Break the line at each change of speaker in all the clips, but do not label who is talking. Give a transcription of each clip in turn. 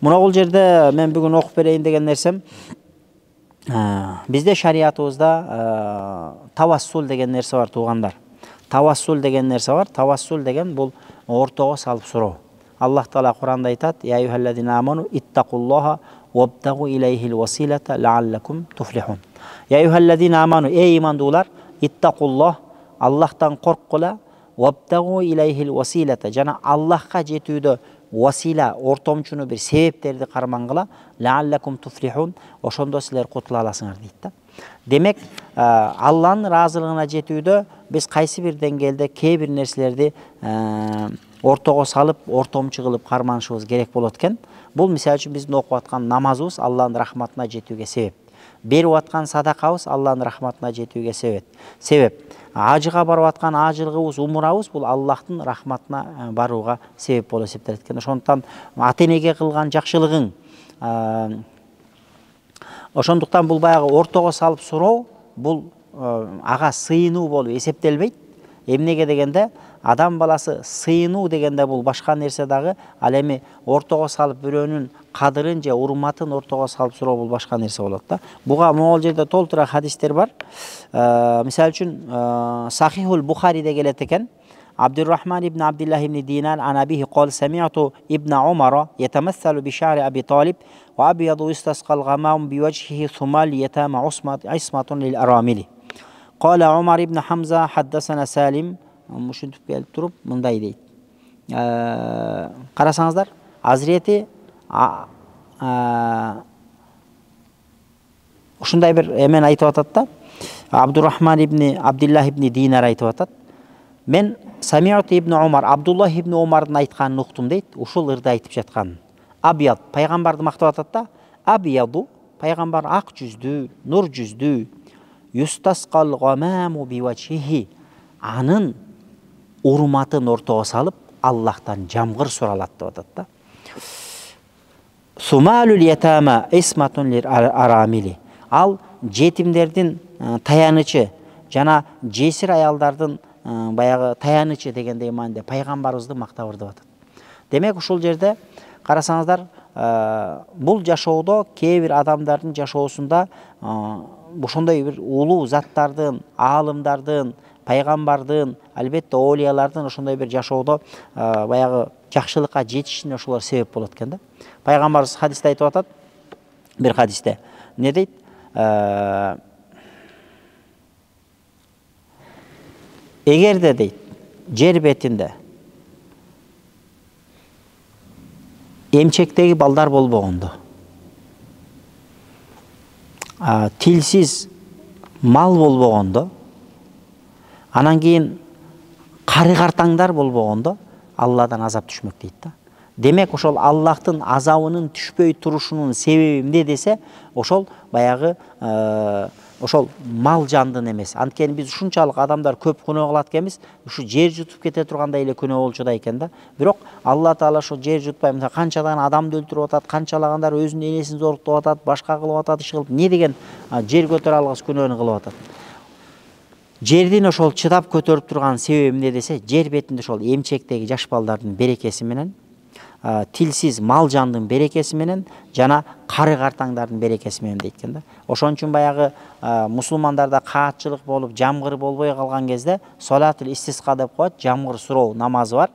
Мына бул жерде мен бүгүн окуп берейин деген нерсем, бизде шариятыбызда тавассул деген нерсе бар, туугандар. Тавассул деген нерсе бар. Тавассул деген бул ортого салып суроо. Аллах Таала Куранда айтат: "Я юхаллазина аману иттакуллаха вабтагу илейхил василата лааллакум туфлихун." Я юхаллазина аману, эй имандуулар, иттакуллах, Аллахтан корккула, вабтагу илейхил василата, жана Аллахка жетүүдө васила, ортомчуну бир себептерди кармангыла, лааллакум туфлихун, ошондо силер кутула аласыңар дейт да. Демек, Алланын ыраазылыгына жетүүдө биз кайсы бир деңгээлде кээ бир нерселерди ортого салып, ортомчу кылып карманышыбыз керек болот экен. Бул мисалы үчүн биздин окуп аткан намазыбыз Алланын рахматына жетүүгө себеп. Берип аткан садакабыз Алланын рахматына жетүүгө себеп. Ажыга барып аткан ажылыгыбыз, умурабыз бул Аллахтын рахматына барууга себеп болуп эсептелет экен. Ошондуктан ата-энеге кылган жакшылыгың, ошондуктан бул баягы ортого салып суроо, бул ага сыйынуу болуп эсептелбейт. Эмнеге дегенде, адам баласы сыйынуу дегенде бул башка нерсе дагы, ал эми ортого салып бирөөнүн кадырын же урматын ортого салып суроо бул башка нерсе болот да. Буга могул жерде толтура хадистер бар. Мисалы үчүн Сахихул Бухариде келет экен. Абдуррахман ибн Абдуллах ибн Динар ан абихи qol sami'tu ibn Umar yatamassalu bi sha'ri Abi Talib wa abyadu istasqal ghamam bi wajhihi thumal yatama ismatun lil aramili. Qala Umar ibn Hamza haddathana Salim, мушинтип келип туруп мындай дейт. Карасаңыздар, Азирети ушундай бир эмен айтып атат да. Абдуррахман ибн Абдуллах ибн Динар айтып атат. Мен Сами'ату ибн Умар, Абдуллах ибн Умардын айтканын уктум дейт. Ушул ырды айтып жаткан. Абияд, пайгамбарды мактап атат да. Абияду, пайгамбар ак жүздүү, нур жүздүү. Юстасқал гамаму бивачхи, анын урматын ортого салып Аллахтан жамгыр суралат деп атат да. Сумалул ятама исматун лир арамили, ал жетимдердин таянычы жана жесир аялдардын баягы таянычы дегендей маанде пайгамбарыбызды мактап ырдып атат. Демек ушул жерде карасаңыздар, бул жашоодо кээ бир адамдардын жашоосунда ошондой бир улуу заттардын, аалымдардын, пайгамбардын, албетте оолиялардын ошондой бир жашоодо баягы жакшылыкка жетишине ошолор себеп болот экен да. Пайгамбарыбыз хадисте айтып атат, бир хадисте эмне дейт? Эгерде дейт, жер бетинде эмчектеги балдар болбогондо, тилсиз мал болбогондо, анан кийин кары картаңдар болбогондо, Алладан азап түшмөк дейт да. Демек ошол Аллахтын азабынын түшпөй турушунун себеби эмне десе, ошол баягы ошол мал жандын эмес. Анткени биз ушунчалык адамдар көп күнөө кылат экенбиз, ушу жер жутуп кете тургандай эле күнөө болчу да экен да. Бирок Алла Таала ошол жер жутпай, мына канчадан адамды өлтүрүп атат, канчалагандар өзүнүн энесин зоруктап атат, башка кылып атат, иш кылып, эмне деген жер көтөрө алгыс күнөөнү кылып атат. Жердин ошол чыдап көтөрүп турган себеби эмне десе, жер бетинде ошол эмчектеги жаш балдардын берекеси менен, тилсиз мал жандын берекеси менен жана кары картаңдардын берекеси менен дейт экен да. Ошон үчүн баягы мусулмандарда каатчылык болуп, жамгыр болбой калган кезде салатул истисқа деп коет, жамгыр суроо намазы бар.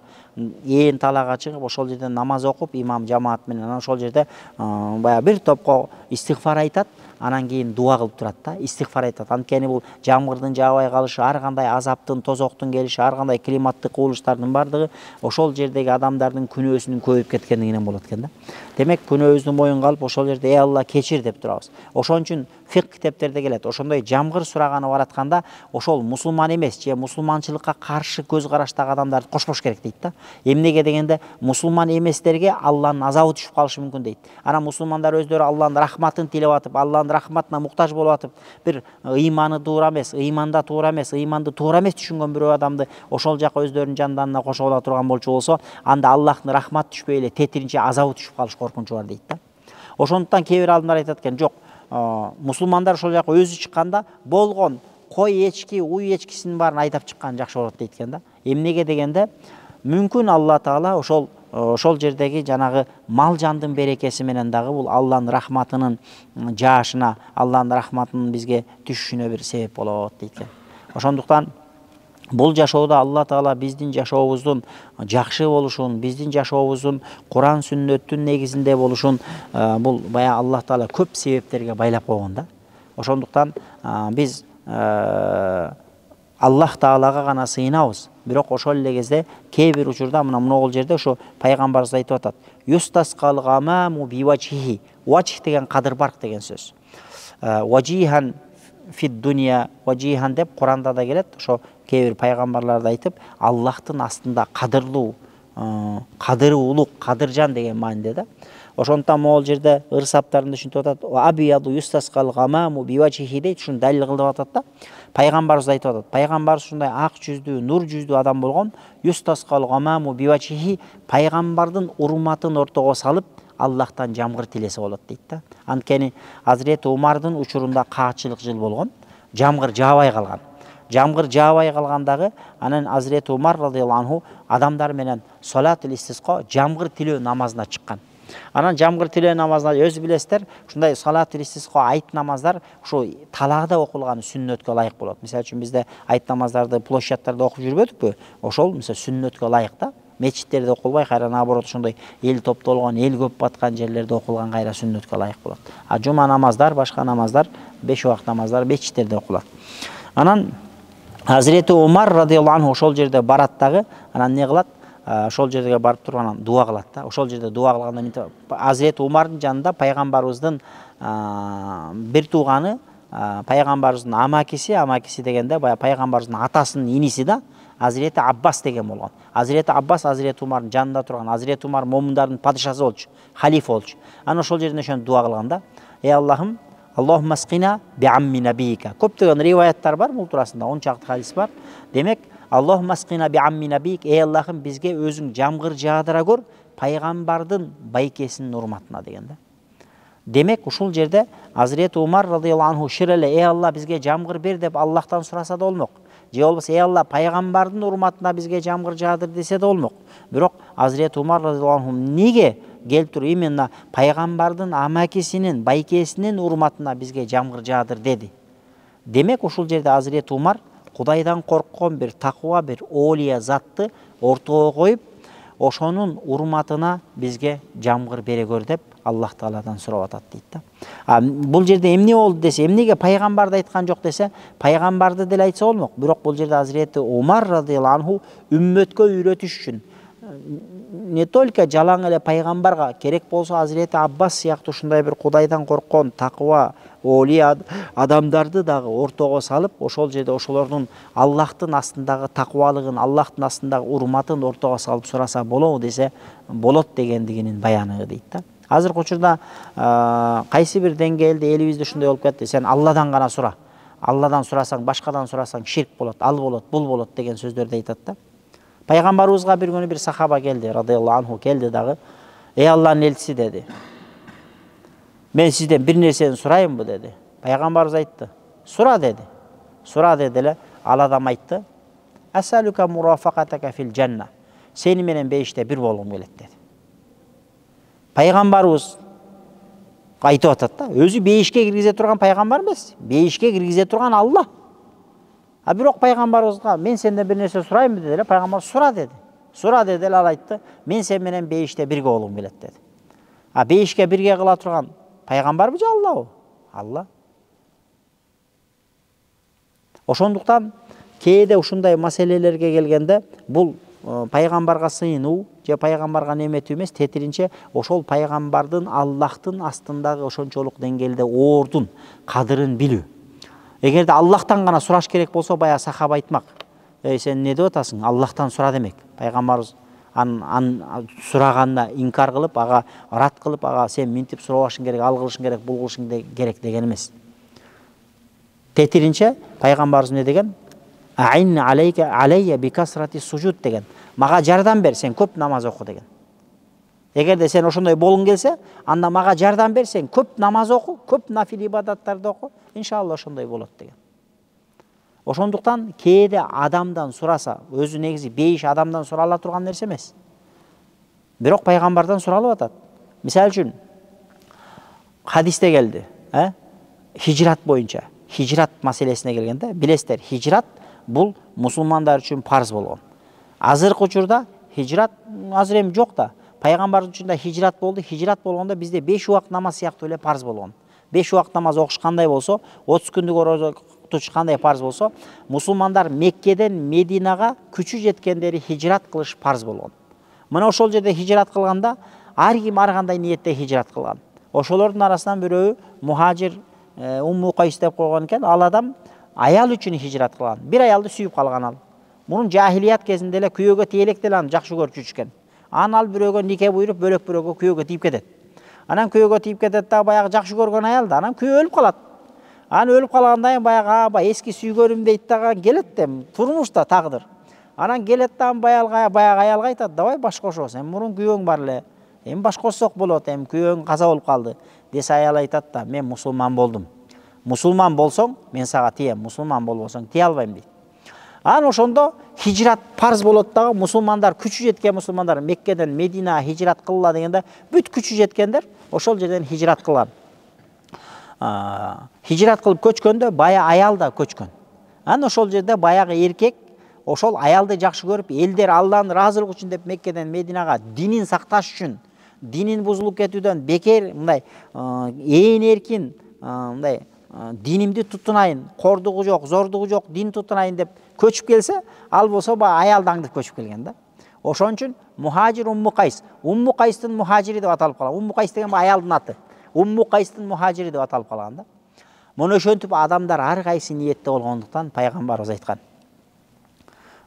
Ээн талаага чыгып, ошол жерде намаз окуп, имам жамаат менен, анан ошол жерде баягы бир топко истигфар айтат, анан кийин дуа кылып турат да, истигфар айтат. Анткени бул жамгырдын жаабай калышы, ар кандай азаптын, тозоктун келиши, ар кандай климаттык кубулуштардын бардыгы ошол жердеги адамдардын күнөөсүнүн көбөйүп кеткендигинен болот экен да. Демек күнөөбүздү моюнга алып, ошол жерде ey Алла кечир деп турабыз. Ошон үчүн фикх китептерде келет. Ошондой жамгыр сураганы баратканда, ошол мусулман эмес же мусулманчылыкка каршы көз караштагы адамдарды кошпош керек дейт да. Эмнеге дегенде, мусулман эместерге Алланын азабы түшүп калышы мүмкүн дейт. Анан мусулмандар өздөрү Алланын рахматын тилеп атып, Алланын рахматына муктаж болуп атып, бир ыйманы туура эмес, ыйманда туура эмес, ыйманды туура эмес түшүнгөн бирөө адамды ошол жака өздөрүнүн жанданына кошо ала турган болчу болсо, анда Аллахтын рахматы түшпөй эле тетиринче азабы түшүп калыш коркунучу бар дейт да. Ошондуктан кээ бир адамдар айтат экен, жок, мусулмандар ошол жака өзү чыкканда болгон кой эчки, уй эчкисинин баарын айдап чыккан жакшы болот дейт экен да. Эмнеге дегенде, мүмкүн Алла Таала ошол ошол жердеги жанагы мал жандын берекеси менен дагы бул Алланын рахматынын жаашына, Алланын рахматынын бизге түшүшүнө бир себеп болот дейт экен. Ошондуктан бул жашоодо Алла Таала биздин жашообуздун жакшы болушун, биздин жашообуздун Куран сүннөттүн негизинде болушун бул баягы Алла Таала көп себептерге байлап койгон да. Ошондуктан биз Аллах Таалага гана сыйынабыз. Бирок ошол эле кезде кээ бир учурда могул жерде ошо пайгамбарыбыз айтып атат. Юстаскал гамаму бивачхи. Вачх деген кадыр барк деген сөз. Важихан фид дуния, важихан деп Куранда да келет. Ошо кээ бир пайгамбарларды айтып, Аллахтын астында кадырлуу, кадыры улук, кадыржан деген мааниде да. Ошондуктан могул жерде ырсаптарында ушинтип атат. Абияду юстаскал гамаму бивачхи дейт, ушуну далил кылып атат да. Пайгамбарыбыз айтып атат. Пайгамбарыбыз ушундай ак жүздүү, нур жүздүү адам болгон. Юстаскал гамаму бивачхи, пайгамбардын урматын ортого салып, Аллахтан жамгыр тилесе болот дейт да. Анткени Азирети Умардын учурунда каатчылык жыл болгон, жамгыр жаабай калган. Жамгыр жаабай калгандагы анан Азирети Умар радыйаллаху анху адамдар менен салатул истисқа, жамгыр тилөө намазына чыккан. Анан жамгыр тилөө намазына өзү билесиздер, ушундай салатул истисқа айт намаздар ушу талаада окулган сүннөткө ылайык болот. Мисалы үчүн бизде айт намаздарды площадьтарда окуп жүрбөдүкпү? Ошол мисалы сүннөткө ылайык да. Мечиттерде окулбай, кайра наоборот ошондой эл топтолгон, эл көп баткан жерлерде окулган кайра сүннөткө ылайык болот. А жума намаздар, башка намаздар, 5 убакыт намаздар мечиттерде окулат. Анан Азирети Умар радыйаллаху анху ошол жерде барат дагы, анан не кылат? Ошол жерге барып туруп анан дуа кылат да. Ошол жерде дуа кылганда Азирети Умардын жанында пайгамбарыбыздын бир тууганы, пайгамбарыбыздын амакиси дегенде баягы пайгамбарыбыздын атасынын иниси да, Азирети Аббас деген болгон. Азирети Аббас Азирети Умардын жанында турган. Азирети Умар момундардын падышасы болчу, халифа болчу. Анан ошол жерден ошону дуа кылган да. Аллахым, Аллахумма скина би амми набийка. Көптөгөн риваяттар бар бул туурасында, 10 чакты хадис бар. Демек, Аллахумма скина би амми набийк, Аллахым бизге өзүң жамгыр жаадыра көр пайгамбардын байкесинин урматына деген да. Демек, ушул жерде Азирети Умар радыйаллаху анху шир эле Алла бизге жамгыр бер деп Аллахтан сураса да болмок. Же болбосо Алла пайгамбардын урматына бизге жамгыр жаадыр десе да болмок. Бирок Азирети Умар радыйаллаху анху неге келтирип именно пайгамбардын амакисинин, байкесинин урматына бизге жамгыр жаадыр деди? Демек, ушул жерде Азирети Умар Кудайдан корккон бир таква, бир олия затты ортого коюп, ошонун урматына бизге жамгыр бере көр деп Аллах Тааладан сурап атат дейт да. Бул жерде эмне болду десе, эмнеге пайгамбарды айткан жок десе, пайгамбарды деле айтса болмок. Бирок бул жерде Азирети Умар радыйаллаху анху үммөткө үйрөтүш үчүн не только жалаң эле пайгамбарга, керек болсо Азирети Аббас сыяктуу ушундай бир Кудайдан корккон таква, олия адамдарды дагы ортого салып, ошол жерде ошолордун Аллахтын астындагы таквалыгын, Аллахтын астындагы урматын ортого салып сураса болобу десе, болот дегендигинин баяны дейт да. Азыркы учурда кайсы бир деңгээлде элибизде ушундай болуп кетти. Сен Алладан гана сура. Алладан сурасаң, башкадан сурасаң ширк болот, ал болот, бул болот деген сөздөрдү айтат да. Пайгамбарыбызга бир күнү бир сахаба келди, радыйаллаху анху келди дагы. Алланын элчиси деди. Мен сизден бир нерсени сурайынбы деди. Пайгамбарыбыз айтты. Сура деди. Сура деди эле, ал адам айтты. Асалука мурафакатака фил жанна. Сени менен бейиште бир болгум келет деди. Пайгамбарыбыз айтып атат да, өзү бейишке киргизе турган пайгамбар эмес, бейишке киргизе турган Алла. Бирок пайгамбарыбызга мен сенден бир нерсе сурайынбы деди эле, пайгамбар сура деди. Сура деди эле, ал айтты, мен сен менен бейиште бирге болгум келет деди. Бейишке бирге кыла турган пайгамбарбы же Аллабы? Алла. Ошондуктан кээде ушундай маселелерге келгенде бул пайгамбарга сыйынуу же пайгамбарга неметүү эмес, тетиринче ошол пайгамбардын Аллахтын астындагы ошончолук деңгээлде ордун, кадырын билүү. Эгерде Аллахтан гана сураш керек болсо, баягы сахаба айтмак. Сен не деп атасың? Аллахтан сура демек. Пайгамбарыбыз сураганына инкар кылып, ага рат кылып, ага сен минтип сурабашың керек, ал кылышың керек, бул кылышың керек деген эмес. Тетиринче пайгамбарыбыз не деген? Аин алейя бикасрати сужуд деген. Мага жардам бер, сен көп намаз оку деген. Эгерде сен ошондой болгуң келсе, анда мага жардам бер, сен көп намаз оку, көп нафил ибадаттарды оку, иншалла ошондой болот деген. Ошондуктан кээде адамдан сураса, өзү негизи бейиш адамдан сурала турган нерсе эмес. Бирок пайгамбардан суралып атат. Мисалы үчүн хадисте келди, хижрат боюнча. Хижрат маселесине келгенде, билесиздер, хижрат бул мусулмандар үчүн парз болгон. Азыркы учурда хижрат азыр эми жок да. Пайгамбар учурда хижрат болду. Хижрат болгондо бизде 5 убакыт намаз сыяктуу эле парз болгон. 5 убакыт намаз окуш кандай болсо, 30 күндүк орозо тутуш кандай парз болсо, мусулмандар Меккеден Мединага күчү жеткендери хижрат кылыш парз болгон. Мына ошол жерде хижрат кылганда ар ким ар кандай ниетте хижрат кылган. Ошолордун арасынан бирөө мухажир Умму Кайс деп койгон экен. Ал адам аял үчүн хижрат кылган. Бир аялды сүйүп калган ал. Мунун жахилият кезинде эле күйөөгө тийелек деле аны жакшы көрүп жүрүшкөн. Ал бирөөгө нике буйруп, бөлөк бирөөгө күйөөгө тийип кетет. Анан күйөөгө тийип кетет да, баягы жакшы көргөн аялды, анан күйөө өлүп калат. Анан өлүп калгандан кийин баягы эски сүйгөнүм дейт да, келет да, турмушта тагдыр. Анан келет да, баягы аялга айтат, давай баш кошобуз. Эми мурун күйөөң бар эле. Эми баш кошсок болот, эми күйөөң каза болуп калды. Десе аял айтат да, мен мусулман болдум. Мусулман болсоң, мен сага тием, мусулман болбосоң тие албайм дейт. Анан ошондо хижрат парз болот дагы, мусулмандар күчү жеткен мусулмандар Меккеден Мединага хижрат кылла дегенде, бүт күчү жеткендер ошол жерден хижрат кылган. Хижрат кылып көчкөндө бая аял да көчкөн. Анан ошол жерде баягы эркек ошол аялды жакшы көрүп, элдер Алланын ыраазылыгы үчүн деп Меккеден Мединага динин сакташ үчүн, динин бузулуп кетүүдөн бекер мындай ээн эркин мындай динимди тутунайын, кордугу жок, зордугу жок, дин тутунайын деп көчүп келсе, ал болсо баягы аялды аңдып көчүп келген да. Ошон үчүн мухажир Умму Кайс, Умму Кайстын мухажири деп аталып калган. Умму Кайс деген аялдын аты. Умму Кайстын мухажири деп аталып калган да. Муну ошентип адамдар ар кайсы ниетте болгондуктан пайгамбарыбыз айткан.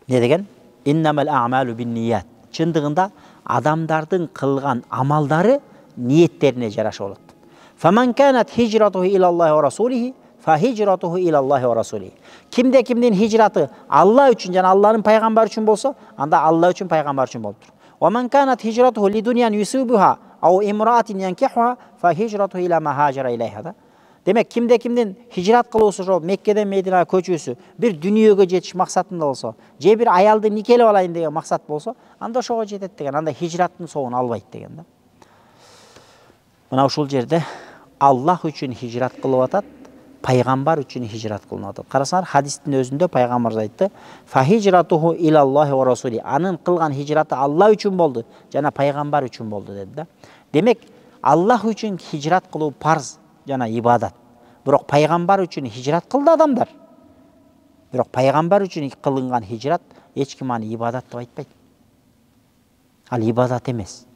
Не деген? Иннамал а'малу бинният. Чындыгында адамдардын кылган амалдары ниеттерине жараша болот. Фаман канат хижратуху илаллахи ва расулихи фа хижратуху илаллахи ва расулихи. Кимде кимдин хижраты Алла үчүн жана Алланын пайгамбары үчүн болсо, анда Алла үчүн пайгамбар үчүн болуптур. Ва ман канат хижратуху лидуньян юсибуха ау имраатин янкихуха фа хижратуху ила ма хажара илайха. Демек, кимде кимдин хижрат кылуусу ошо Меккеден Мединага көчүүсү бир дүнүйөгө жетиш максатында болсо, же бир аялды никелеп алайын деген максат болсо, анда ошого жетет деген. Анда хижраттын соогун албайт деген да. Мына ушул жерде Аллах үчүн хижрат кылып атат, пайгамбар үчүн хижрат кылынып атат. Карасаңар, хадистин өзүндө пайгамбар айтты: "Фа хижратуху илаллахи ва расули." Анын кылган хижраты Алла үчүн болду жана пайгамбар үчүн болду деди да. Демек, Аллах үчүн хижрат кылуу парз жана ибадат. Бирок пайгамбар үчүн хижрат кылды адамдар. Бирок пайгамбар үчүн кылынган хижрат эч ким аны ибадат деп айтпайт. Ал ибадат эмес.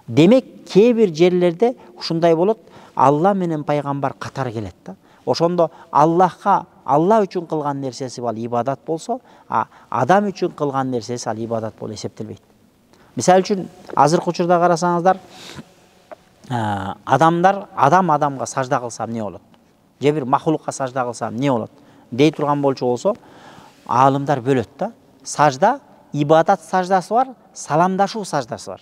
Демек, кээ бир жерлерде ушундай болот, Алла менен пайгамбар катар келет да. Ошондо Аллахка Алла үчүн кылган нерсеси ал ибадат болсо, адам үчүн кылган нерсеси ал ибадат болуп эсептелбейт. Мисалы үчүн, азыркы учурда карасаңыздар, адам адамга сажда кылса эмне болот? Же бир махлукка сажда кылса эмне болот? Дей турган болчу болсо, аалымдар бөлөт да. Сажда, ибадат саждасы бар, саламдашуу саждасы бар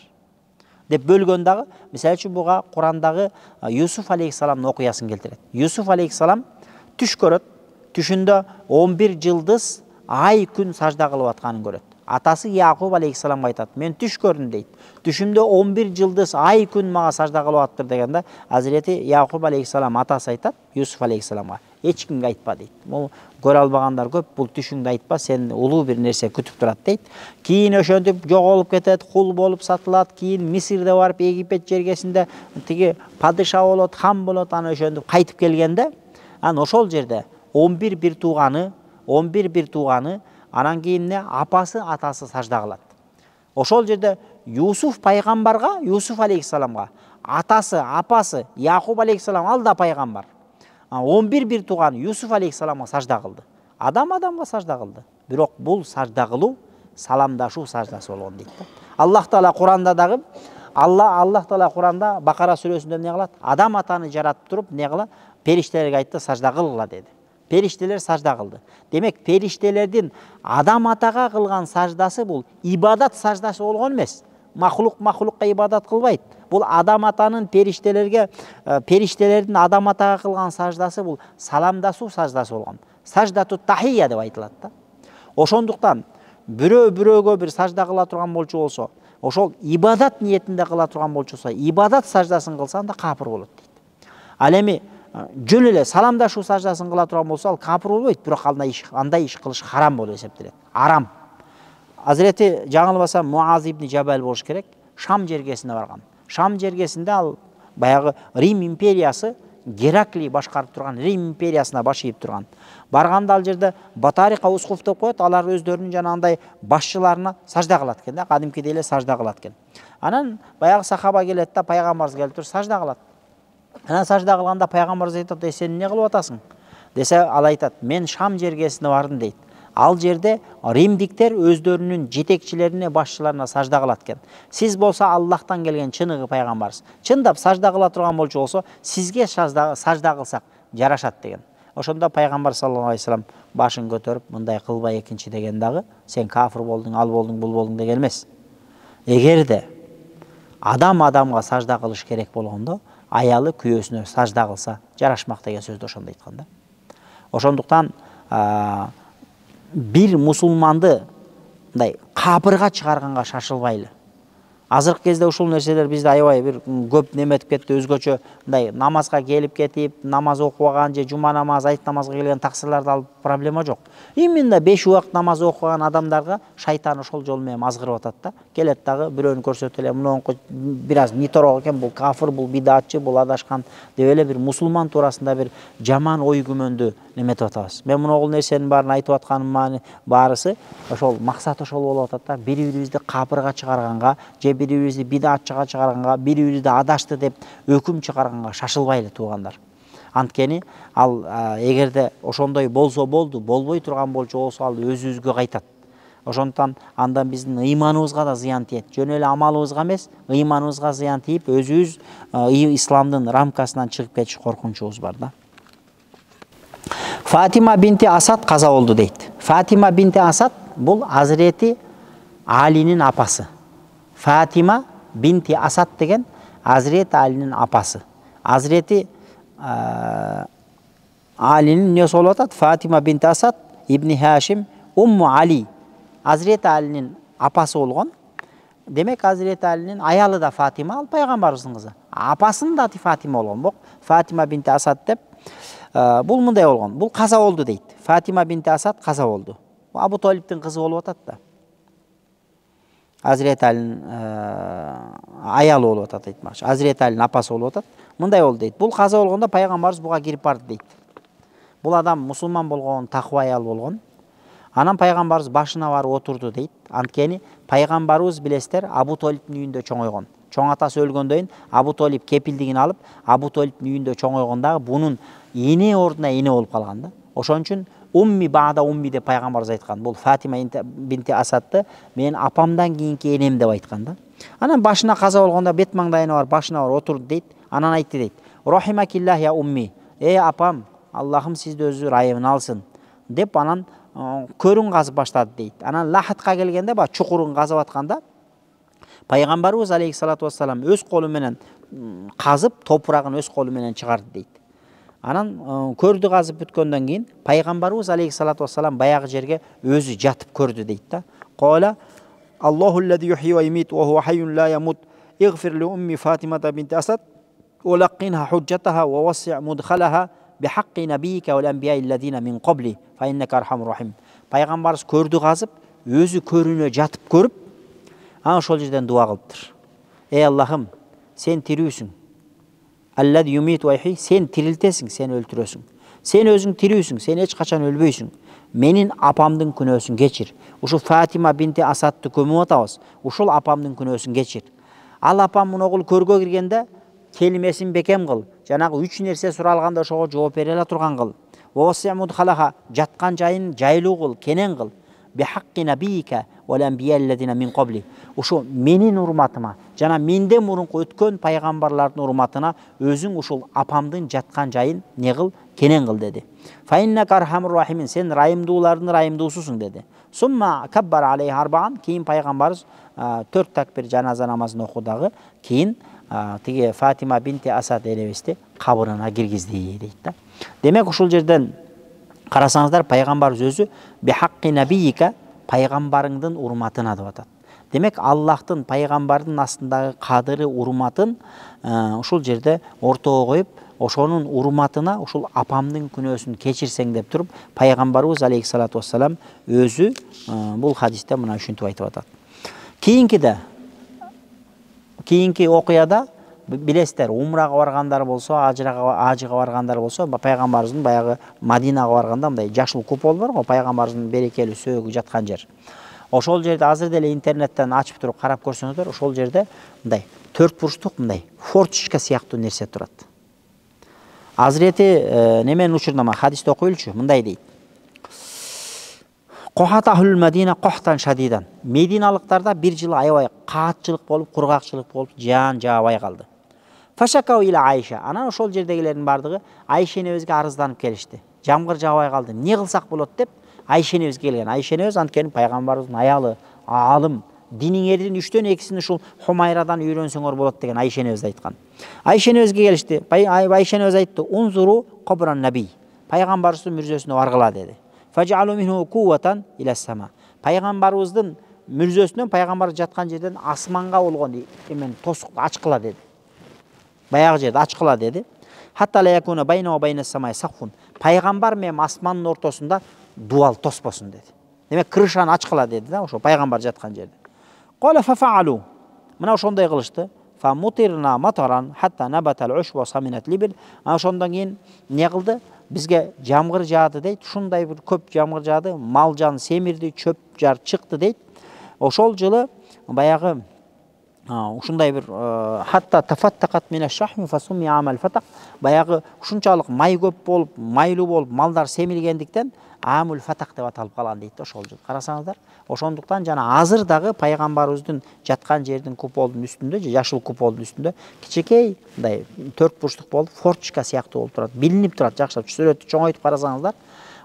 деп бөлгөн дагы. Мисалы үчүн буга Курандагы Юсуф алейхиссаламдын окуясын келтирет. Юсуф алейхиссалам түш көрөт. Түшүндө 11 жылдыз ай күн сажда кылып атканын көрөт. Атасы Якуб алейхиссаламга айтат: "Мен түш көрдүм" дейт. Түшүмдө 11 жылдыз ай күн мага сажда кылып аттыр дегенде, Азирети Якуб алейхиссалам атасы айтат Юсуф алейхиссаламга: "Эч кимге айтпа" дейт. Бул көрө албагандар көп, бул түшүңдү айтпа, сен улуу бир нерсе күтүп турат дейт. Кийин ошентип жоголуп кетет, кул болуп сатылат, кийин Мисирде барып Египет жергесинде тиги падыша болот, хан болот, аны ошентип кайтып келгенде, анан ошол жерде 11 бир тууганы анан кийин апасы, атасы сажда кылат. Ошол жерде Юсуф пайгамбарга, Юсуф алейхиссаламга, атасы, апасы Якуб алейхиссалам ал да пайгамбар. 11 бир тууган Юсуф алейхиссаламга сажда кылды. Адам адамга сажда кылды. Бирок бул сажда кылуу саламдашуу саждасы болгон дейт да. Аллах Таала Куранда дагы Аллах Таала Куранда Бакара сүрөсүндө эмне кылат? Адам атаны жаратып туруп, эмне кыла? Периштелерге айтты, сажда кылгыла деди. Периштелер сажда кылды. Демек, периштелердин адам атага кылган саждасы бул ибадат саждасы болгон эмес. Махлукка ибадат кылбайт. Бул адам атанын периштелердин адам атага кылган саждасы бул саламдасуу саждасы болгон. Саждату тахия деп айтылат да. Ошондуктан бирөө бирөөгө бир сажда кыла турган болчу болсо, ошол ибадат ниетинде кыла турган болчусу, ибадат саждасын кылса, анда капыр болот дейт. Ал эми жөн эле саламдашуу саждасын кыла турган болсо, ал капыр болбойт, бирок андай иш кылыш харам болуп эсептелет. Арам. Азирети жаңылбасам Муаз ибн Жабал болуш керек, Шам жергесине барган. Шам жергесинде ал баягы Рим империясы, Геракли башкарып турган Рим империясына баш ийип турган. Барганда ал жерде Батарика Ускуф деп коет, алар өздөрүнүн жанагындай башчыларына сажда кылат экен да, кадимкидей эле сажда кылат экен. Анан баягы сахаба келет да, пайгамбарыбыз келип туруп сажда кылат. Анан сажда кылганда пайгамбарыбыз айтат: "Сен эмне кылып атасың?" Десе, ал айтат: "Мен Шам жергесине бардым" дейт. Ал жерде римдиктер өздөрүнүн жетекчилерине, башчыларына сажда кылат экен. Сиз болсо Аллахтан келген чыныгы пайгамбарсыз. Чындап сажда кыла турган болсо, сизге сажда кылсак жарашат деген. Ошондо пайгамбар саллаллаху алейхи вассалам башын көтөрүп, мындай кылбай экинчи деген дагы сен кафир болдуң, ал болдуң, бул болдуң деген эмес. Эгерде адам адамга сажда кылыш керек болгондо, аялы күйөөсүнө сажда кылса жарашмак деген сөздү ошондо айткан да. Ошондуктан бир мусулманды мындай капырга чыгарганга шашылбайлы. Азыркы кезде ушул нерселер бизде аябай бир көп неметип кетти, өзгөчө мындай намазга келип кетип, намаз окубаган же жума намазы, айт намазга келген таксырларды алып проблема жок. Именно 5 убакыт намаз окуган адамдарга шайтан ошол жол менен азгырып атат да. Келет дагы бирөөнү көрсөтүп эле, мунунку бир аз ниторок экен, бул кафир, бул бидатчы, бул адашкан деп эле бир мусулман туурасында бир жаман ой күмөндү неметип атабыз. Мен мунул нерсенин баарын айтып атканым баарысы ошол максат ошол болуп атат да, бири-бирибизди капырга чыгарганга же бири-бирибизди бидатчыга чыгарганга, бири-бирибизди адашты деп өкүм чыгарганга шашылбайлы туугандар. Анткени ал эгерде ошондой болсо болду, болбой турган болсо ал өзүбүзгө кайтат. Ошондуктан андан биздин ыйманыбызга да зыян тиет. Жөн эле амалыбызга эмес, ыйманыбызга зыян тийип, өзүбүз исламдын рамкасынан чыгып кетиш коркунучубуз бар да. Фатима бинти Асад каза болду дейт. Фатима бинти Асад бул Азирети Алинин апасы. Фатима бинти Асад деген Азирети Алинин апасы. Азирети Алинин эмнеси болуп атат? Фатима бинти Асад ибни Хашим Умму Али. Азирети Алинин апасы болгон. Демек Азирети Алинин аялы да Фатима, ал пайгамбарыбыздын кызы. Апасынын да аты Фатима болгон. Бок Фатима бинти Асад деп бул мындай болгон. Бул каза болду дейт. Фатима бинти Асад каза болду. Абу Талиптин кызы болуп атат да. Азирети Алинин аялы болуп атат айтмакчы. Азирети Алинин апасы болуп атат. Мындай болду дейт. Бул каза болгондо пайгамбарыбыз буга кирип барды дейт. Бул адам мусулман болгон, таква аял болгон. Анан пайгамбарыбыз башына барып отурду дейт. Анткени пайгамбарыбыз билесиздер Абу Талиптин үйүндө чоңойгон. Чоң атасы өлгөндөн кийин Абу Талип кепилдигин алып, Абу Талиптин үйүндө чоңойгондагы бунун эне ордуна эне болуп калган да. Ошон үчүн умми баада умми деп пайгамбарыбыз айткан. Бул Фатима бинти Асадты мен апамдан кийинки энем деп айткан да. Анан башына каза болгондо бет маңдайына барып башына барып отурду дейт. Анан айтты дейт: "Рахимакиллах я умми". Апам, Аллахым сизди өзү райымына алсын деп анан көрүн казып баштады дейт. Анан Лахатка келгенде ба чукурун казып атканда пайгамбарыбыз алейхиссалату вассалам өз колу менен казып, топурагын өз колу менен чыгарды дейт. Анан көрдү казып бүткөндөн кийин пайгамбарыбыз алейхиссалату вассалам баягы жерге өзү жатып көрдү дейт да. Кола Аллахуллази юхи ва юмит ва хува хайюн ла ямут. Игфир ли умми Фатимата бинти Асад ва лақинха худжатаха ва васси' мудхалаха бихаққи набийика вал анбияи аллазина мин қабли фа иннака архамур рахим. Пайгамбарыбыз көрдү казып, өзү көрүнө жатып көрүп, ана ошол жерден дуа кылыптыр. Аллахым, сен тирүүсүң. Аллази юмит ва юхи, сен тирилтесиң, сен өлтүрөсүң. Сен өзүң тирүүсүң, сен эч качан өлбөйсүң. Менин апамдын күнөөсүн кечир. Ушу Фатима бинти Асадты көмүп атабыз. Ушул апамдын күнөөсүн кечир. Ал апам муногул көргө киргенде келимесин бекем кыл. Жанагы 3 нерсе суралганда ошого жооп бере ала турган кыл. Васи'муд халаха, жаткан жайын жайлуу кыл, кенен кыл. Бихаққи набийика вал анбияи аллазина мин қабли. Ушу менин урматыма, жана менден мурунку өткөн пайгамбарлардын урматына өзүң ушул апамдын жаткан жайын не кыл, кенен кыл деди. Фа иннака архамур рахимин, сен райымдуулардын райымдуусусуң деди. Сумма каббар алейхи арбаан, кийин пайгамбарыбыз 4 такбир жаназа намазын окудагы, кийин тиги Фатима бинти Асад энебизди кабырына киргизди дейт да. Демек ушул жерден карасаңыздар пайгамбарыбыз өзү бихаққи набийика, пайгамбарыңдын урматына деп атат. Демек Аллахтын пайгамбардын астындагы кадыры, урматын ушул жерде ортого коюп, ошонун урматына ушул апамдын күнөөсүн кечирсең деп туруп, пайгамбарыбыз алейхиссалату вассалам өзү бул хадисте мына ушинтип айтып атат. Кийинки окуяда билесиздер, умрага баргандар болсо, ажыга баргандар болсо, пайгамбарыбыздын баягы Мадинага барганда мындай жашыл купол бар го, пайгамбарыбыздын берекелүү сөөгү жаткан жер. Ошол жерде азыр деле интернеттен ачып туруп карап көрсөңүздөр, ошол жерде мындай 4 бурчтук мындай форточка сыяктуу нерсе турат. Азирети неменин учурунда хадисте окуйлучу, мындай дейт. Кохатахул Мадина кохтан шадидан. Мединалыктарда бир жыл аябай каатчылык болуп, кургакчылык болуп, жаан жаабай калды. Фашакау ила Айша. Анан ошол жердегилердин бардыгы Айша энебизге арызданып келишти. Жамгыр жаабай калды. Эмне кылсак болот деп Айша энебизге келген. Айша энебиз анткени пайгамбарыбыздын аялы, алым, диниңердин 3төн 2син ушул Хумайрадан үйрөнсөңөр болот деген Айша энебиз айткан. Айша энебизге келишти. Айша энебиз айтты: "Унзуру кабран наби." Пайгамбарыбыздын мүрзөсүнө баргыла деди. Фажалу минху кувватан ила сама. Пайгамбарыбыздын мүрзөсүнөн пайгамбар жаткан жерден асманга болгон эмен тосукту ачкыла деди. Баягы жерде ачкыла деди. Хатта ла якуна байна ва байна самай сахфун. Пайгамбар менен асмандын ортосунда дуал тоспосун деди. Демек крышаны ачкыла деди да, ошо пайгамбар жаткан жерде. Кала фафалу. Мына ошондой кылышты. Фа мутирна матаран хатта набатал ушва саминат либил. Ошондон кийин эмне кылды? Бизге жамгыр жаады дейт. Ушундай бир көп жамгыр жаады, мал жан семирди, чөп жар чыкты дейт. Ошол жылы баягы ушундай бир хатта тафаттакат мина шахми фасуми амал фатак. Баягы ушунчалык май көп болуп, майлуу болуп, малдар семиргендиктен амул фатак деп аталып калган дейт ошол жыл. Карасаңыздар, ошондуктан жана азыр дагы пайгамбарыбыздын жаткан жердин куполдун үстүндө, жашыл куполдун үстүндө кичекей мындай 4 бурчтук болуп, форточка сыяктуу болуп турат, билинип турат, жакшылап сүрөттү чоңойтуп карасаңыздар.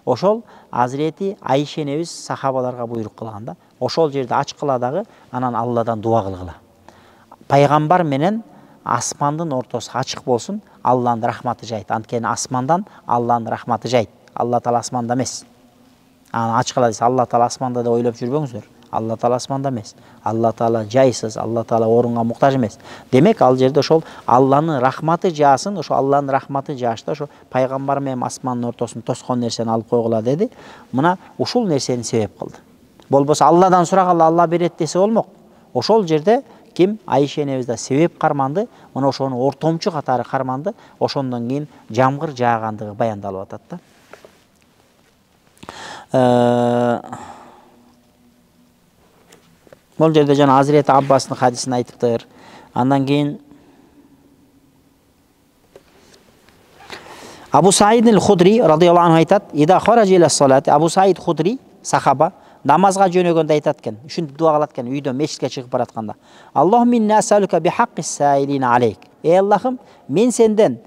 Ошол Азирети Айша энебиз сахабаларга буйрук кылган да. Ошол жерде ачкыла дагы, анан Алладан дуа кылгыла. Пайгамбар менен асмандын ортосу ачык болсун, Алланын рахматы жайт. Анткени асмандан Алланын рахматы жайт. Алла таала асманда эмес. Ачкыла десе, Алла таала асманда деп ойлоп жүрбөңүздөр. Алла таала асманда эмес. Алла таала жайсыз, Алла таала орунга муктаж эмес. Демек ал жерде ошол Алланын рахматы жаасын, ошо Алланын рахматы жаашта ошо пайгамбар менен асмандын ортосун тоскон нерсени алып койгула деди. Мына ушул нерсени себеп кылды. Болбосо Алладан сураганда Алла берет десе болмок. Ошол жерде ким? Айша энебиз да себеп карманды, мына ошону ортомчу катары карманды. Ошондон кийин жамгыр жаагандыгы баяндалып атат да. Бул жерде жана Азирети Аббастын хадисин айтыптыр. Андан кийин Абу Саид аль-Худри радыйаллаху анху айтат: "Ида хаража ила салати", Абу Саид Худри сахаба намазга жөнөгөндө айтат экен, ушинтип дуа кылат экен үйдөн мешитке чыгып баратканда. "Аллахумма инна асалука би хаққис саилина алейк". Ey Аллахым, мен сенден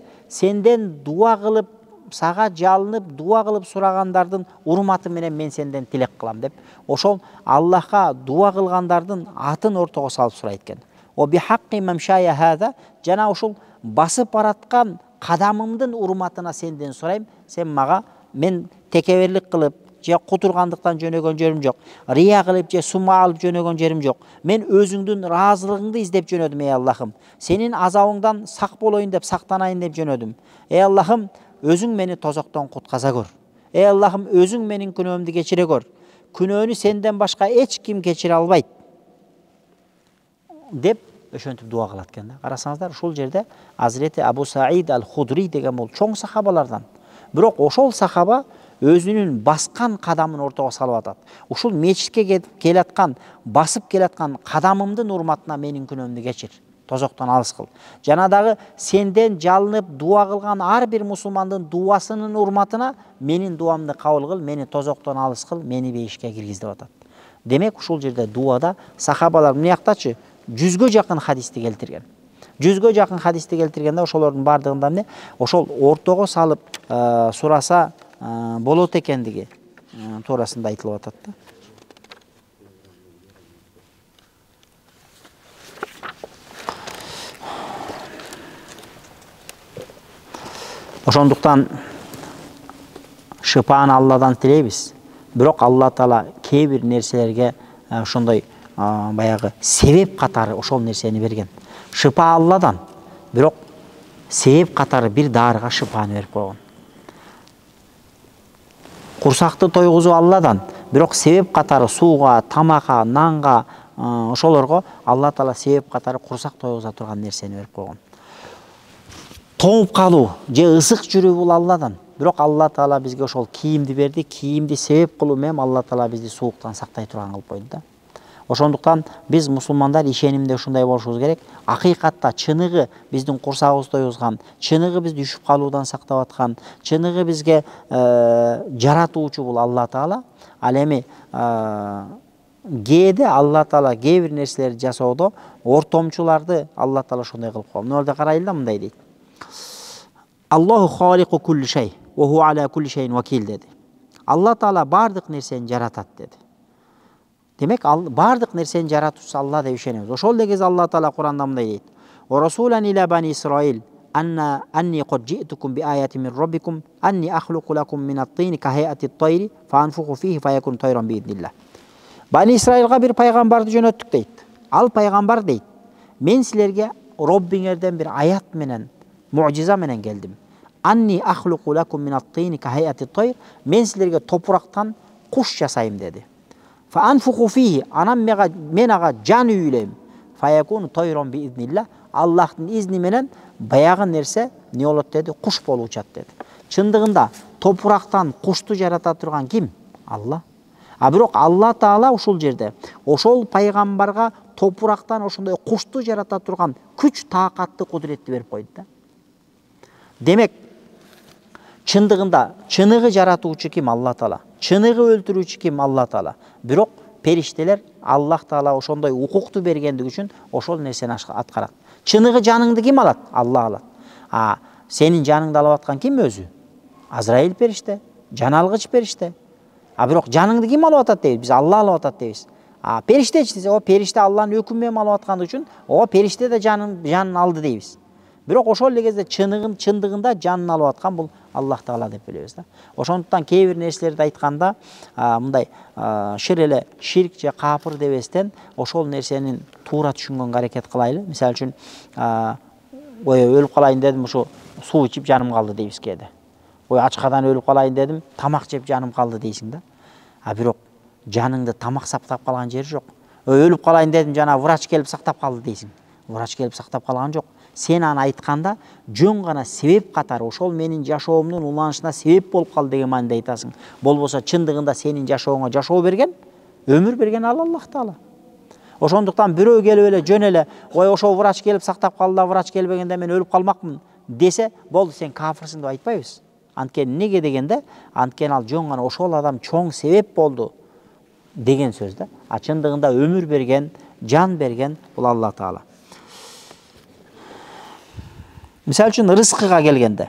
дуа кылып, сага жалынып, дуа кылып сурагандардын урматы менен мен сенден тилек кылам деп, ошол Аллахка дуа кылгандардын атын ортого салып сурайт экен. "О би хаққи мамшая хаза", жана ушул басып бараткан кадамымдын урматына сенден сурайм. Сен мага, мен текеберлик кылып же кутургандыктан жөнөгөн жерим жок. Рия кылып же сума алып жөнөгөн жерим жок. Мен өзүңдүн ыраазылыгыңды издеп жөнөдүм, ey Аллахым. Сенин азабыңдан сак болоюн деп, сактанайын деп жөнөдүм. Ey Аллахым, өзүң мени тозоктон кутказа көр. Ey Аллахым, өзүң менин күнөөмдү кечире көр. Күнөөнү сенден башка эч ким кечире албайт деп ошентип дуа кылат экен да. Карасаңыздар, ушул жерде Азирети Абу Саид аль-Худри деген бул чоң сахабалардан. Бирок ошол сахаба өзүнүн баскан кадамын ортого салып атат. Ушул мечитке келаткан, басып келаткан кадамымдын урматына менин күнөөмдү кечир. Тозоктон алыс кыл. Жана дагы сенден жалынып дуа кылган ар бир мусулмандын дуасынын урматына менин дуамды кабыл кыл, мени тозоктон алыс кыл, мени бейишке киргиз деп атат. Демек ушул жерде дуада сахабалар мынаяктачы 100гө жакын хадисти келтирген. 100гө жакын хадисти келтиргенде ошолордун бардыгында эмне? Ошол ортого салып сураса болот экендиги туурасында айтылып атат да. Ошондуктан шыпааны Алладан тилейбиз. Бирок Алла таала кээ бир нерселерге ошондой баягы себеп катары ошол нерсени берген. Шыпа Алладан, бирок себеп катары бир дарыга шыпаны берип койгон. Курсакты тойгузуу Алладан, бирок себеп катары сууга, тамакка, нанга, ошолорго Алла Таала себеп катары курсак тойгуза турган нерсени берип койгон. Тоңуп калуу же ысык жүрүү бул Алладан, бирок Алла Таала бизге ошол кийимди берди, кийимди себеп кылуу менен Алла Таала бизди сууктан сактай турган кылып койду да. Ошондуктан биз мусулмандар ишенимде ушундай болушубуз керек. Акыйкатта чыныгы биздин курсагыбызды тойгузган, чыныгы бизди үшүп калуудан сактап аткан, чыныгы бизге жаратуучу бул Алла Таала. Ал эми кээде Алла Таала кээ бир нерселерди жасоодо ортомчуларды Алла Таала ошондой кылып койгон. Мына жерде карайлы да, мындай дейт. Аллаху халику кулли шей ва ху аля кулли шейин вакил деди. Алла Таала бардык нерсени жаратат деди. Демек, бардык нерсени жаратуучусу Алла деп ишенебиз. Ошол эле кезде Алла Таала Куранда мындай дейт. Ва расулан иля бани Исраил анни кад жи'тукум би аяти мин раббикум анни ахлуqu лакум мин ат-тини ка хайати ат-тайри фа анфуху фихи фа якун тайран би иднилlah. Бани Исраилга бир пайгамбарды жөнөттүк дейт. Ал пайгамбар дейт: "Мен силерге Роббиңерден бир аят менен, муъжиза менен келдим. Анни ахлуqu лакум мин ат-тини ка хайати ат-тайр, мен силерге топурактан куш жасайм" деди. Фа анфуху фихи, анан мен ага жан үйлейм. Фа якун тайран би иднилlah, Аллахтын изни менен баягы нерсе не болот деди, куш болуп учат деди. Чындыгында топурактан кушту жарата турган ким? Алла. А бирок Алла Таала ушул жерде ошол пайгамбарга топурактан ошондой кушту жарата турган күч, таакатты, кудуретти берип койду да. Демек, чындыгында чыныгы жаратуучу ким? Алла Таала. Чыныгы өлтүрүүчү ким? Алла Таала. Бирок периштелер Аллах Таала ошондой укукту бергендиги үчүн ошол нерсени аткарат. Чыныгы жаныңды ким алат? Алла алат. А сенин жаныңды алып аткан ким өзү? Азраил периште, жан алгыч периште. А бирок жаныңды ким алып атат дейбиз? Биз Алла алып атат дейбиз. А периштечи десе, о периште Алланын өкүмү менен алып аткандыгы үчүн, о периште да жанын алды дейбиз. Бирок ошол эле кезде чындыгында жанын алып аткан бул Аллах Таала деп билебиз да. Ошондуктан кээ бир нерселерди айтканда мындай шир эле ширк же капыр дебестен ошол нерсенин туура түшүнгөнгө аракет кылайлы. Мисалы үчүн ой өлүп калайын дедим, ушу суу ичип жаным калды дейбиз кээде. Ой ачкадан өлүп калайын дедим, тамак жеп жаным калды дейсиң да. А бирок жаныңды тамак сактап калган жери жок. Ой өлүп калайын дедим, жана врач келип сактап калды дейсиң. Врач келип сактап калган жок. Сен аны айтканда жөн гана себеп катары ошол менин жашоомдун уланышына себеп болуп калды деген мааниде айтасың. Болбосо чындыгында сенин жашооңо жашоо берген, өмүр берген Аллах Таала. Ошондуктан бирөө келип эле жөн эле ой ошол врач келип сактап калды да, врач келбегенде мен өлүп калмакмын десе, болду сен кафирсиң деп айтпайбыз. Анткени неге дегенде, анткени ал жөн гана ошол адам чоң себеп болду деген сөз да. А чындыгында өмүр берген, жан берген бул Алла Таала. Мисалы үчүн рызкыга келгенде,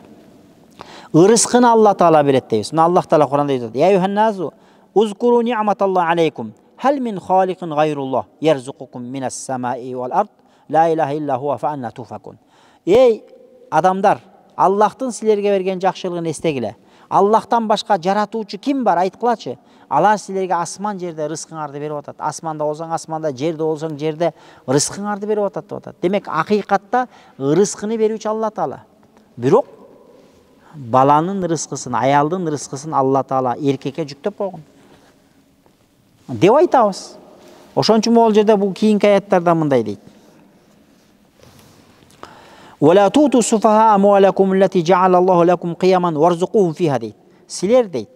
рызкыны Алла Таала берет дейбиз. Мына Аллах Таала Куранда айтат: "Я юханназу узкуру ни'маталлахи алейкум, хал мин халикин гайруллах ярзукукум минас самаи вал ард, ла илаха илля хуа фа анна туфакун." Эй адамдар, Аллахтын силерге берген жакшылыгын эстегиле. Аллахтан башка жаратуучу ким бар? Айткылачы. Алар силерге асман жерде рызкыңарды берип атат. Асманда болсоң асманда, жерде болсоң жерде рызкыңарды берип атат деп атат. Демек, акыйкатта рызкыны берүүчү Алла Таала. Бирок баланын рызкысын, аялдын рызкысын Алла Таала эркекке жүктөп койгон деп айтабыз. Ошон үчүн могул жерде бул кийинки аяттарда мындай дейт: "Вала туту суфаха амвалакум аллати жа'ала Аллаху лакум қияман варзуқухум фиха" дейт. Силер дейт,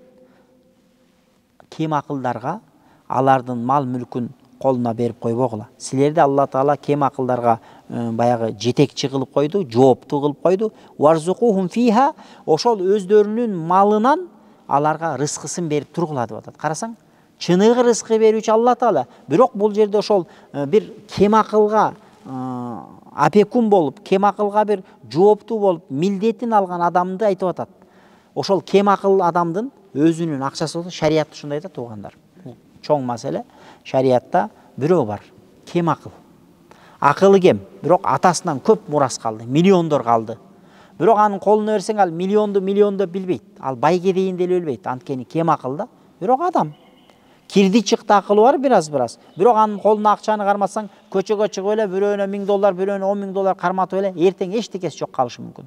кем акылдарга алардын мал мүлкүн колуна берип койбогула. Силерди Алла Таала кем акылдарга баягы жетекчи кылып койду, жооптуу кылып койду. Варзуқухум фиха, ошол өздөрүнүн малынан аларга рызкысын берип тургула деп атат. Карасаң, чыныгы рызкы берүүчү Алла Таала. Бирок бул жерде ошол бир кем акылга апекун болуп, кем акылга бир жооптуу болуп, милдетин алган адамды айтып атат. Ошол кем акыл адамдын өзүнүн акчасы болсо, шарият ушундай айтат туугандар. Бул чоң маселе. Шариятта бирөө бар, кем акыл. Акылы кем, бирок атасынан көп мурас калды, миллиондор калды. Бирок анын колуна берсең, ал миллионду билбейт. Ал байге дейин деле билбейт. Анткени кем акыл да, бирок адам. кирди чыкты акылы бар бир аз. Бирок анын колуна акчаны карматсаң, көчөгө чыгып эле бирөөнө $1000, бирөөнө $10,000 карматып эле эртең эчтекеси жок калышы мүмкүн.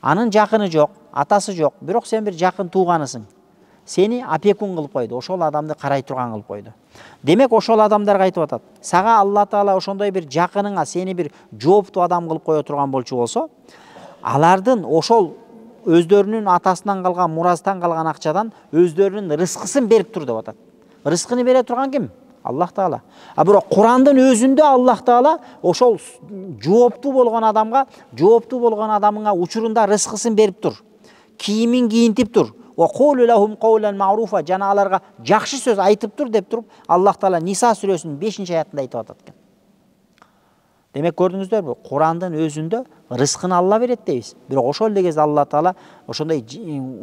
Анын жакыны жок, атасы жок, бирок сен бир жакын тууганысың. Сени опекун кылып койду, ошол адамды карай турган кылып койду. Демек ошол адамдарга айтып атат. Сага Алла Таала ошондой бир жакыныңа сени бир жооптуу адам кылып кое турган болчу болсо, алардын ошол өздөрүнүн атасынан калган, мураздан калган акчадан өздөрүнүн рызкысын берип тур деп атат. Рызкыны бере турган ким? Аллах Таала. А бирок Курандын өзүндө Аллах Таала ошол жооптуу болгон адамга, жооптуу болгон адамыңа учурунда рызкысын берип тур. Кийимин кийинтип тур. Ва кулу лахум каулан ма'руфа, жана аларга жакшы сөз айтып тур деп туруп Аллах Таала Ниса сүрөсүнүн 5-аятында айтып атат экен. Демек көрдүңүздөрбү? Курандын өзүндө рызкыны Алла берет дейбиз. Бирок ошол эле кезде Алла Таала ошондой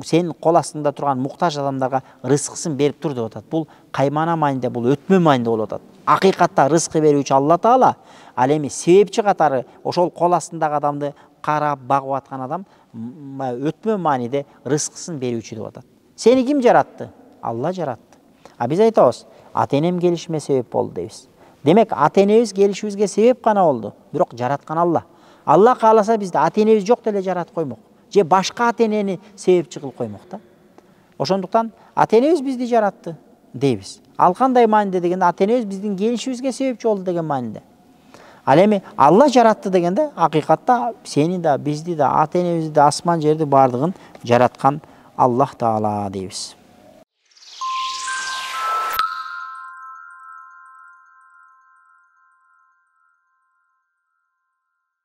сенин кол астыңда турган муктаж адамдарга рызкысын берип тур деп атат. Бул каймана маанинде, бул өтмө маанинде болуп атат. Акыйкатта рызкы берүүчү Алла Таала, ал эми себепчи катары ошол кол астындагы адамды карап багып аткан адам өтмө мааниде рызкысын берүүчү деп атат. Сени ким жаратты? Алла жаратты. А биз айтабыз, ата-энем келишиме себеп болду дейбиз. Демек ата-энебиз келишибизге себеп гана болду, бирок жараткан Алла. Алла кааласа бизди ата-энебиз жок деле жаратып коймок, же башка ата-энени себепчи кылып коймок да. Ошондуктан ата-энебиз бизди жаратты дейбиз. Ал кандай маанинде дегенде, ата-энебиз биздин келишибизге себепчи болду деген маанинде. Ал эми Алла жаратты дегенде, акыйкатта сени да, бизди да, ата-энебизди да, асман жерди бардыгын жараткан Аллах Таала дейбиз.